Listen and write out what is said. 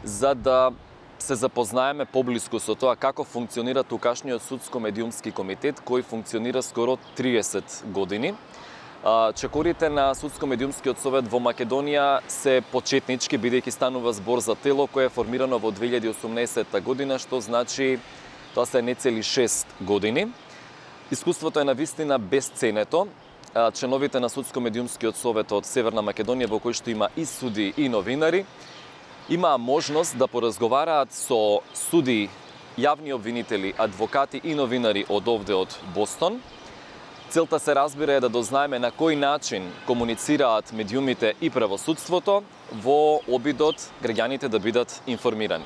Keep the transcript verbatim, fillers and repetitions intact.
за да се запознаеме поблиску со тоа како функционира тукашниот судско-медиумски комитет, кој функционира скоро триесет години. Чекорите на Судско-медиумскиот совет во Македонија се почетнички, бидејќи станува збор за тело кое е формирано во две илјади и осумнаесетта година, што значи тоа се нецели шест години. Искуството е навистина безценето. Членовите на Судско-медиумскиот совет од Северна Македонија, во кој што има и суди и новинари, имаа можност да поразговараат со суди, јавни обвинители, адвокати и новинари од овде од Бостон. Целта, се разбира, е да дознаеме на кој начин комуницираат медиумите и правосудството во обидот граѓаните да бидат информирани.